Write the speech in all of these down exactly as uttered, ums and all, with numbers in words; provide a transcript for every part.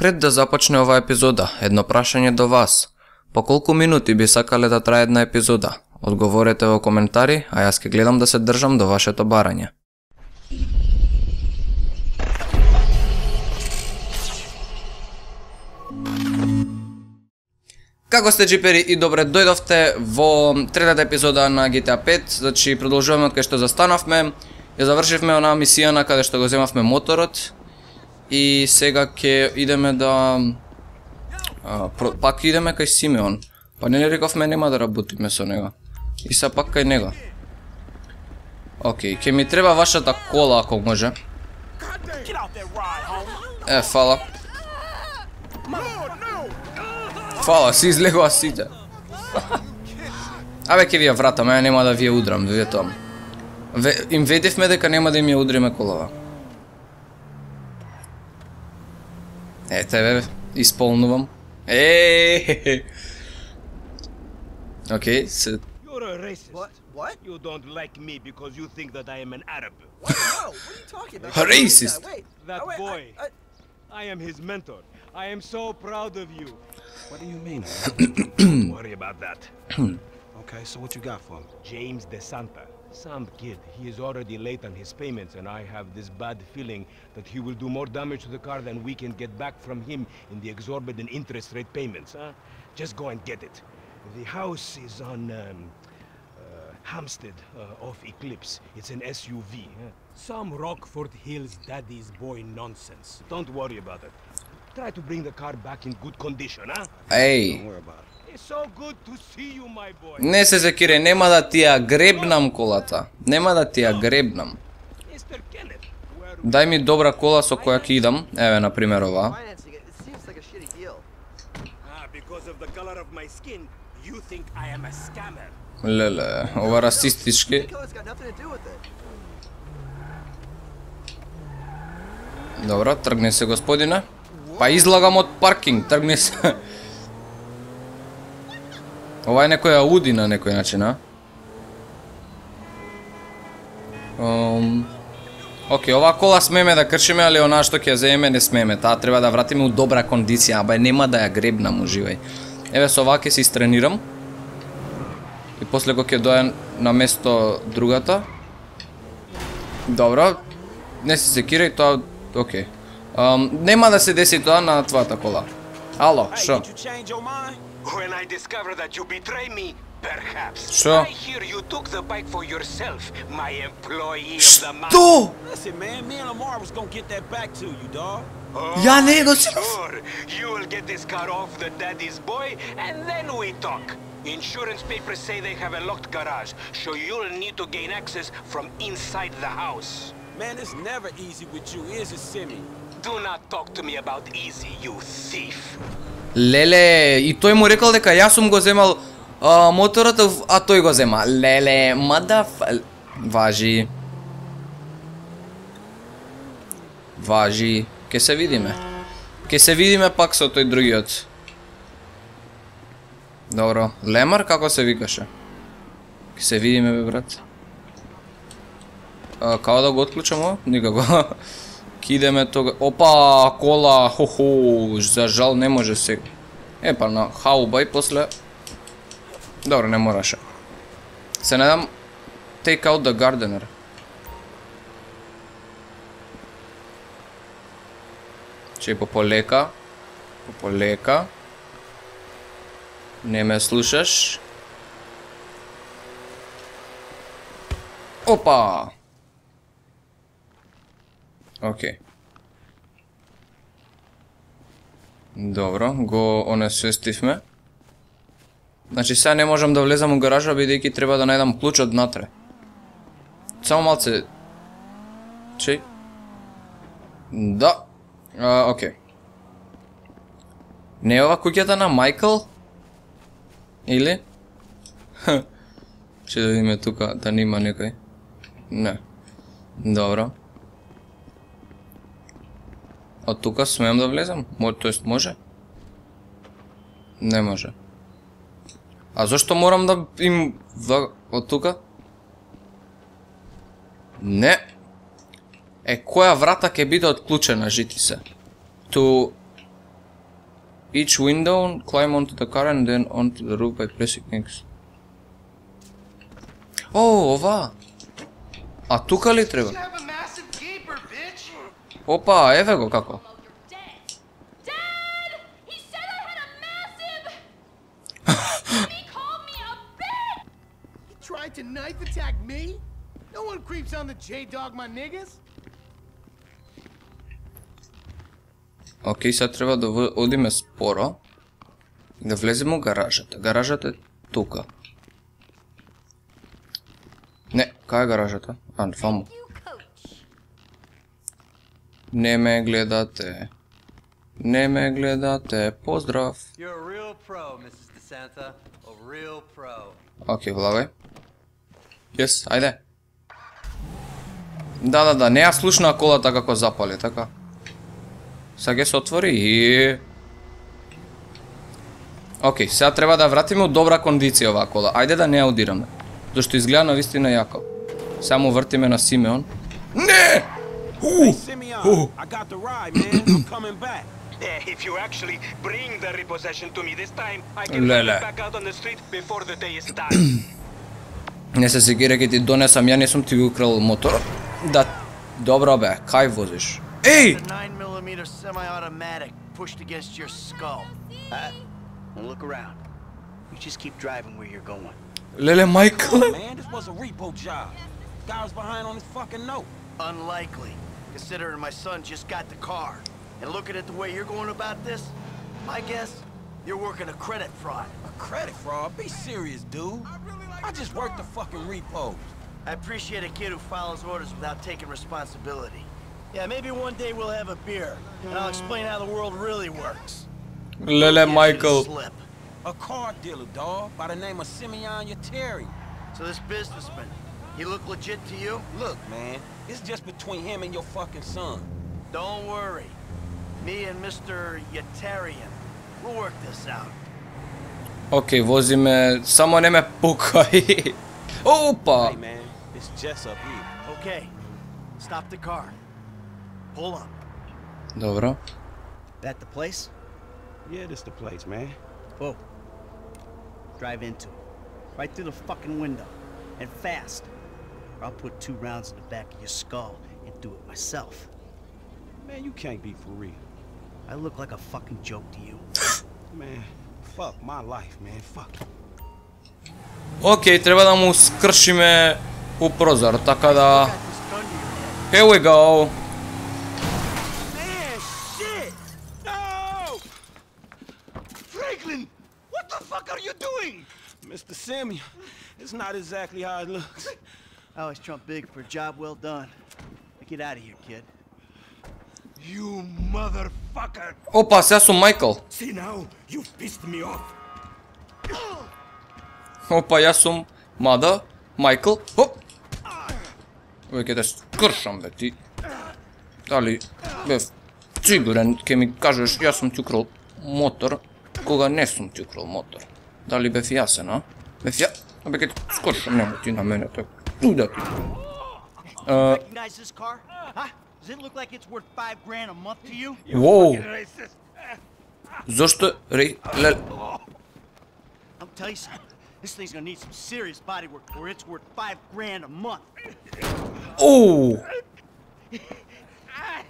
Пред да започне оваа епизода, едно прашање до вас. По колку минути би сакале да трае една епизода? Одговорете во коментари, а јас ќе гледам да се држам до вашето барање. Како сте, джипери, и добре дојдовте во третата епизода на Джи Ти Ей пет. Значи, продолжуваме од кај што застанавме. Ја завршивме онаа мисија на каде што го земавме моторот. И сега ќе идеме да... А, про... Пак идеме кај Симеон. Па не ли рековме нема да работиме со него. И са пак кај него. Океј, ќе ми треба вашата кола ако може. Е, фала. Фала, си излегува сите. Абе, ќе ви ја вратам, ја нема да ви ја удрам, ви тоа. Им ведевме дека нема да им ја удриме колава. Ете, бе, исполнувам. Еее. Океј, се... You're a racist. What? What? You don't like me because you think that I am an Arab. What? No, what are you talking about? A racist. Wait, That oh, wait, boy. I, I, I am his mentor. I am so proud of you. What do you mean? Don't worry about that. Okay, so what you got for me? James DeSanta. Some kid. He is already late on his payments, and I have this bad feeling that he will do more damage to the car than we can get back from him in the exorbitant interest rate payments, huh? Just go and get it. The house is on um, uh, Hampstead uh, off Eclipse. It's an S U V. Huh? Some Rockford Hills daddy's boy nonsense. Don't worry about it. Try to bring the car back in good condition, huh? Еј. Don't worry about it. It's so good to see you, my boy. Не се секире, нема да ти ја гребнам колата. Нема да ти ја гребнам. Mister Kenneth, where Дај ми добра кола со која ќе идам. Еве, на пример, ова. financing it, it seems like a shitty deal. Ah, because of the color of my skin, you think I am a scammer. Леле, ова расистички. Nico's got nothing to do with it. Добро, тргни се, господине. Па излагам од паркинг, тргни се. Ова е некоја ауди на некој начин, а? Um, Океј, оваа кола смеме да кршиме, али онаа што ќе ја земеме не смеме. Таа треба да вратиме у добра кондиција, абе нема да ја гребнам, уживај. Еве со оваа ќе се истренирам. И после кога ќе дојде на место другата. Добро. Не се секирај, тоа океј. Um, нема да се деси тоа на твојата кола. Ало, шо? Did you change your mind? When I discover that you betray me, perhaps. Sure. I hear you took the bike for yourself, my employee of the month. Што? Listen, man, me and Lamar was gonna get that back to you, dog. Oh, Ја не го си... sure. You will get this car off the daddy's boy, and then we talk. Insurance papers say they have a locked garage, so you'll need to gain access from inside the house. Man, it's never easy with you, is it, Simi? Do not talk to me about easy, you thief. Леле, и тој му рекол дека јас сум го земал а, моторот, а тој го зема. Леле, мада... Важи. Важи. Ке се видиме. Ке се видиме пак со тој другиот. Добро. Лемар, како се викаше? Ке се видиме, бе, брат. А, као да го отклучам ово? Никако. Ке идеме тога... Опа, кола, хо-хо, за жал не може се... Е, па на хауба и после... Добро, не мораше. Се надам... Take out the gardener. Че пополека. Пополека. Не ме слушаш. Опа! Океј. Добро, го онесвестивме. Значи сега не можам да влезам у гаража, бидејќи треба да најдам клучот натре. Само малце... Чеј? Да. А, океј. Не е ова куќата на Майкл? Или? Че да видиме тука, да нема некој. Не. Добро. Од тука смеам да влезам? Тоест може? Не може. А зашто морам да им... Од тука? Не. Е, која врата ќе биде отклучена, жити се? Ту... Each window, climb onto the car and then onto the roof by pressing X. О, ова! А тука ли треба? Опа, еве го како. Tried to knife attack me? No one creeps on the J-Dog, my niggas. Окей, сега треба да одиме споро и да влеземе во гаражата. Гаражата е тука. Не, кај е гаражата? А, ваму. Не ме гледате. Не ме гледате. Поздрав. You're a real pro, missus DeSanta. A real pro. Окей, влагај. Јес, ајде. Да, да, да, не ја слушна колата како запали, така. Сега ќе се отвори и... Окей, сега треба да вратиме у добра кондиција оваа кола. Ајде да не ја удираме. Зашто изгледа навистина јако. Само вртиме на Симеон. Не! Hey, Simeon, I got the ride, man. I'm coming back. If you actually bring the repossession to me this time, I can Леле. get back out on the street before the day is done. Не се сегира ке ти донесам, ја не сум ти го украл мотор. Да, добро бе, кај возиш? Еј! The nine millimeter semi-automatic pushed against your skull. Uh, don't look around. You just keep driving where you're going. Леле, Майкл. Man, this was a repo job. Guy was behind on his fucking note. Unlikely, considering my son just got the car. And looking at the way you're going about this, my guess, you're working a credit fraud. A credit fraud? Be serious, dude. I just worked the fucking repos. I appreciate a kid who follows orders without taking responsibility. Yeah, maybe one day we'll have a beer, and I'll explain how the world really works. Леле, Майкл. Slip. A car dealer, dawg, by the name of Simeon Yeteri. So this businessman, he look legit to you? Look, man, it's just between him and your fucking son. Don't worry. Me and Mister Yetarian, we'll work this out. Окей, возиме, само не ме пукај. Опа! Hey, man, it's Jess up here. Okay, stop the car. Pull up. Добро. That the place? Yeah, this the place, man. Whoa. Drive into it. Right through the fucking window. And fast. Or I'll put two rounds in the back of your skull and do it myself. Man, you can't be for real. I look like a fucking joke to you. Man, fuck my life, man. Fuck you. Окей, треба да му скршиме у прозор, така да... Here we go. Man, shit! No! Franklin, what the fuck are you doing? Mister Simeon, it's not exactly how it looks. I always trump big for a job well done. Now get out of here, kid. You motherfucker! Опа, сега сум Майкл. See now, you've pissed me off. Опа, јас сум Мада, Майкл. Оп! Веќе те скршам, бе, ти. Дали, бе, сигурен ке ми кажеш, јас сум ти украл мотор, кога не сум ти украл мотор. Дали бев јасен, а? Бев ја... Бе, ке те скршам, нема ти на мене, така. Уда ти. Uh, Recognize this car? Huh? Does it look like it's worth five grand a month to you? Воу! Зошто ре... Ле... I'll tell you something. This thing's gonna need some serious body work or it's worth five grand a month. Оу!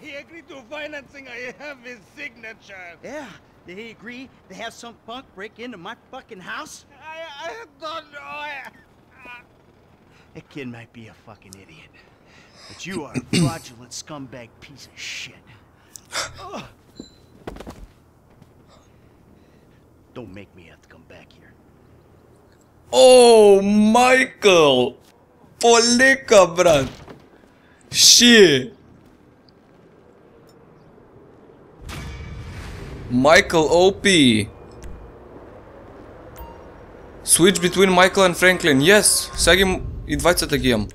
He agreed to financing. I have his signature. Yeah, did he agree to have some punk break into my fucking house? I, I don't know. That kid might be a fucking idiot. But you are a fraudulent scumbag piece of shit. Don't make me have to come back here. Оу, Майкл! Полека, брат! Ши! Michael O P. Switch between Michael and Franklin. Yes, сега ги и двајцата ги имам.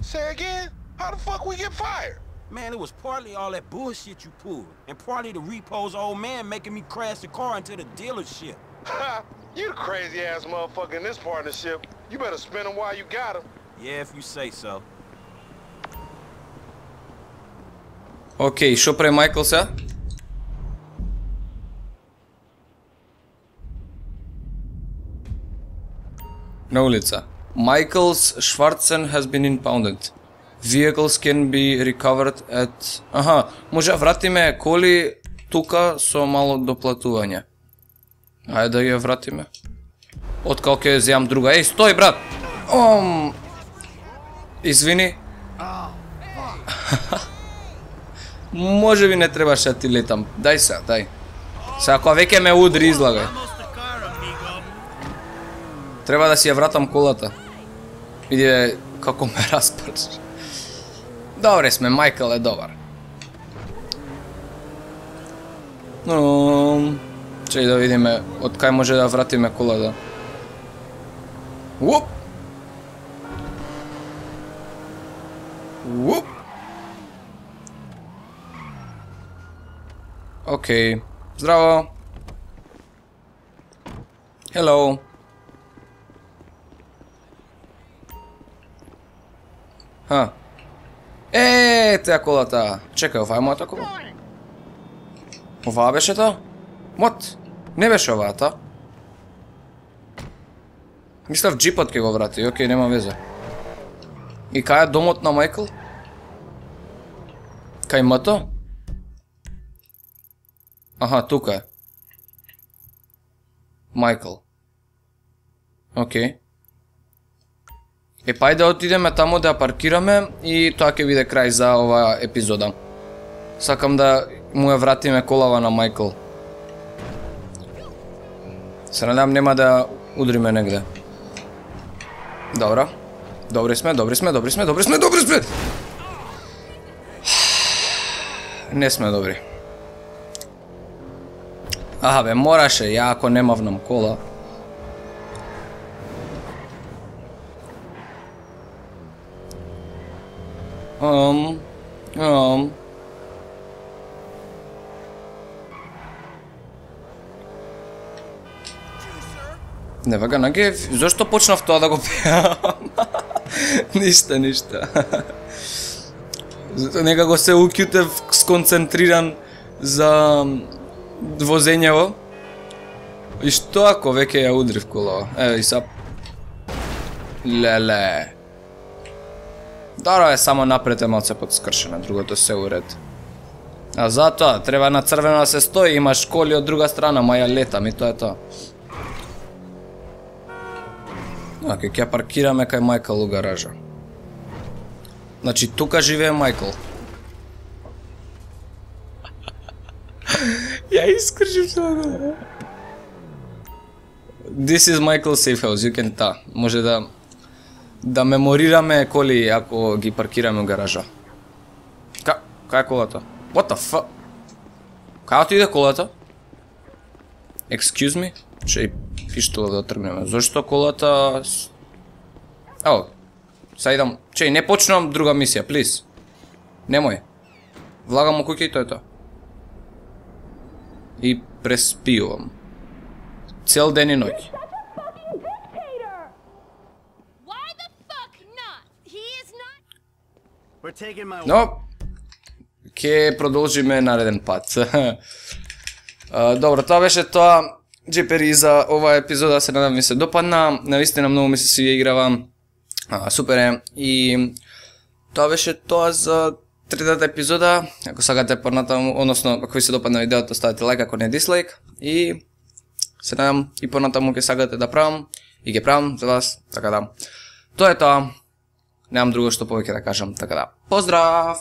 Say again? How the fuck we get fired? Man, it was partly all that bullshit you pulled, and partly the repo's old man making me crash the car into the dealership. Ha! You the crazy ass motherfucker in this partnership. You better spin him while you got him. Yeah, if you say so. Океј, шо прави Майкл сега? На улица. Michael's Schwarzen has been impounded. Vehicles can be recovered at... Аха, може вратиме коли тука со мало доплатување. Ајде да ја вратиме. Откако ќе земам друга. Еј, стој брат! Ом... Извини. Може би не требаше да ти летам. Дај се, дај. Се ако веќе ме удри, излагај. Треба да си ја вратам колата. Види како ме распрш. Добре сме, Майкл е добар. Но... Чеј да видиме од кај може да вратиме колата. Уп! Уп! Океј. Здраво. Hello. Ха. Е, теа колата. Чекај, ова е мојата кола. Оваа беше тоа? Мот? Не беше оваа тоа? Мислев джипот ќе го врати, окей, нема везе. И кај е домот на Майкл? Кај мото? Аха, тука е. Майкл. Окей. Е, па да отидеме таму да ја паркираме и тоа ќе биде крај за оваа епизода. Сакам да му ја вратиме колава на Майкл. Се надам нема да удриме негде. Добро. Добри сме, добри сме, добри сме, добри сме, добри сме! Не сме добри. Аха бе, мораше, ја ако немавнам кола. Ам, ам. Never gonna give. Зошто почнав тоа да го пеам? Ништа, ништа. Некако се укјутев сконцентриран за возењево. И што ако веќе ја удрив колава? Еве и сап. Леле. Даро е само напред е малце подскршено, другото се уред. А затоа треба на црвено да се стои, имаш коли од друга страна, ма ја летам и тоа е тоа. Оке, ќе паркираме кај Майкл у гаража. Значи тука живее Майкл. Ја искршив тоа. This is Michael's safe house, you can ta. Може да да меморираме коли ако ги паркираме у гаража. Ка, кај е колата? What the fuck? Кај отиде колата? Excuse me? Че пиштола да тргнеме. Зошто колата... Ао, са идам... Чеј, не почнувам друга мисија, плиз. Немој. Влагам у куќа и тоа е тоа. И преспиувам. Цел ден и ноќ. Но, ќе продолжиме нареден пат. Добро, тоа беше тоа. Джипери за оваа епизода, се надам ви се допадна. Навистина многу ми се свија играва. А, супер е. И тоа беше тоа за третата епизода. Ако сакате понатаму, односно ако ви се допадна видеото, ставете лайк, ако не дислайк. И се надам и понатаму ќе сакате да правам и ќе правам за вас, така да. Тоа е тоа. Немам друго што повеќе да кажам, така да. Поздрав!